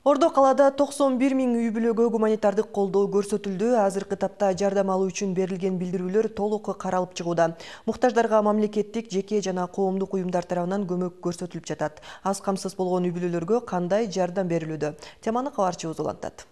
Ордо калаада 91 000 үй бүлөгө гуманитардык колдоо көрсөтүлдү. Азыркы тапта жардам алуу үчүн берилген билдирүүлөр толук каралып чыгууда. Муктаждарга мамлекеттик, жеке жана коомдук уюмдар тарабынан көмөк көрсөтүлүп жатат. Аз камсыз болгон үй бүлөлөргө кандай жардам берилүүдө? Теманы кабарчыбыз улантат.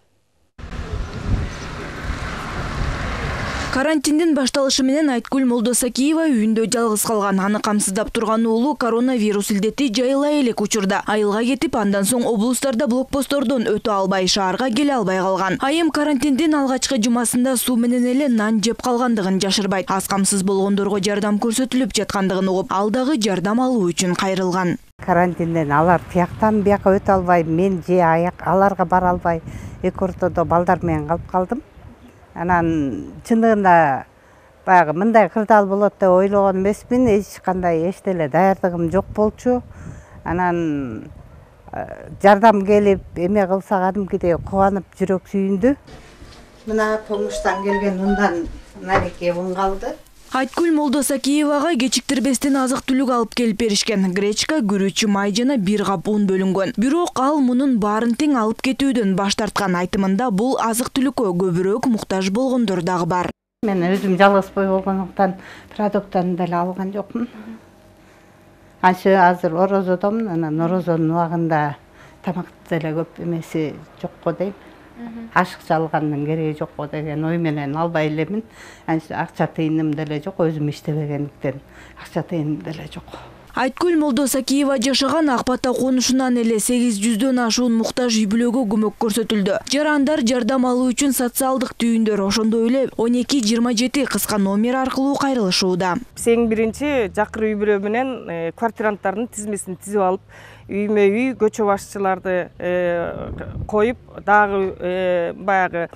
Карантиндин башталышы менен Айткүл Молдосакиева үйүндө жалгыз калган. Аны камсыздап турган уулу коронавирус илдети жайыла элек учурда айылга кетип, андан соң облустарда блокпосттордон өтө албай, шаарга келе албай калган. Айым карантиндин алгачкы жумасында суу менен эле нан жеп калгандыгын жашырбайт. Аз камсыз болгондорго жардам көрсөтүлүп жаткандыгын угуп, ал дагы жардам алуу үчүн кайрылган. Карантинден алар тияктан бияка өтө албай, мен же аларга бара албай, эки ортодо балдар менен калып калдым. Анан чындыгында баягы мындай кырдаал болот деп ойлогон эмесмин. Эч кандай эчтеле даярдыгым жок болчу. Анан жардам келип эме кылса кадимкидей кубанып жүрөк сүйүндү. Мына помуштан келген ундан нареке ун калды. Айткүл Молдосакиевага кечиктирбестен азык-түлүк алып келип беришкен. Гречка, күрүч, май жана бир кап ун бөлүнгөн. Бирок ал мунун баарын тең алып кетүүдөн баш тарткан. Айтымында бул азык-түлүккө көбүрөөк муктаж болгондор дагы бар. Мен өзүм жалгыз бой болгондуктан продукттарын деле алган жокмун. Азыр орозодомун, анан орозонун убагында тамакты деле көп эмеси жокко дейм. Ашыкча алгандын кереги жокко деген ой менен албай элемин. Акча тыйыным деле жок, өзүм иштебегендиктен акча тыйыным деле жок. Айткүл Молдосакиева жашаган Ак Бата конушунан эле 800дөн ашуун муктаж үй бүлөгө көмөк көрсөтүлдү. Жарандар жардам алуу үчүн социалдык түйүндөр, ошондой эле 1227 кыска номер аркылуу кайрылышууда. Эң биринчи жакыр үй бүлө менен квартиранттардын тизмесин тизип алып, үймө үй көчө башчыларды коюп, дагы баягы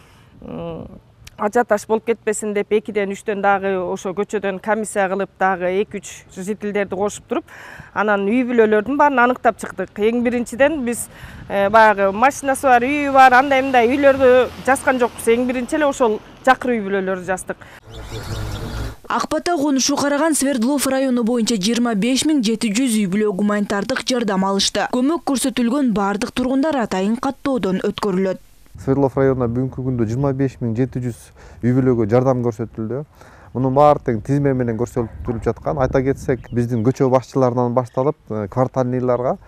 ажиотаж болуп кетпесин деп 2-3 дагы ошо көчөдөн комиссия кылып, дагы 2-3 жителдерди кошуп туруп, анан үй бүлөлөрдүн баарын аныктап чыктык. Эң биринчиден биз баягы машинасы бар, үйү бар, андай-мындай үйлөрдү жазган жокпуз. Эң биринчи эле ошол жакыр үй бүлөлөрдү жаздык. Ак Бата конушу караган Свердлов району боюнча 25 700 үй бүлө гуманитардык жардам алышты. Көмөк көрсөтүлгөн бардык тургундар атайын каттоодон өткөрүлөт. Свердлов районуна бүгүнкү күндө 25 700 үй бүлөгө жардам көрсөтүлдү. Мунун баары тең тизме менен көрсөтүлүп жаткан. Айта кетсек, биздин көчө башчыларынан башталып, квартальныйлардан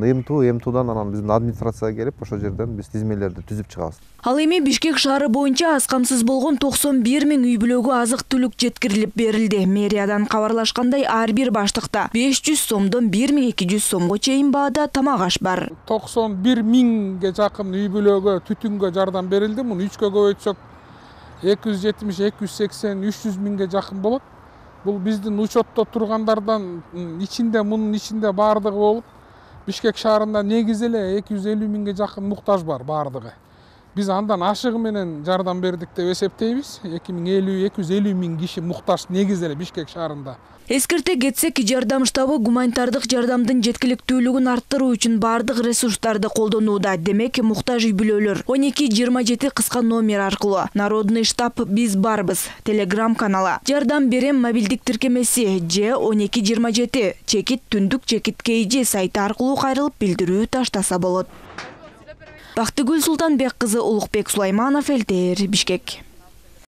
эмтуудан анан биздин администрацияга келип, ошол жерден биз тизмелерди түзүп чыгабыз. Ал эми Бишкек шаары боюнча аз камсыз болгон 91 000 үй бүлөгө азык-түлүк жеткирилип берилди. Мэриядан кабарлашкандай, ар бир баштыкта 500 сомдон 1200 сомго чейин баада тамак аш бар. 91 000ге жакын үй бүлөгө түтүнгө жардам берилди. Муну 3кө көбөйтсөк 270, 280, 300 миңге жакын болот. Бул биздин учетто тургандардан мунун ичинде баардыгы болуп, Бишкек шаарында негизи эле 250 миңге жакын муктаж бар баардыгы. Биз андан ашыгы менен жардам бердик деп эсептейбиз. 250 миң киши муктаж негизи эле Бишкек шаарында. Эскерте кетсек, жардам штабы гуманитардык жардамдын жеткиликтүүлүгүн арттыруу үчүн бардык ресурстарды колдонууда. Демек, муктаж үй бүлөлөр 1227 кыска номер аркылуу. Народный штаб биз барбыз Telegram каналы, жардам берем мобилдик тиркемеси же 1227 чекит түндүк чекит KG сайты аркылуу кайрылып билдирүү таштаса болот. Бактыгүл Султанбек кызы, Улукбек Сулайманов, ЛТР, Бишкек.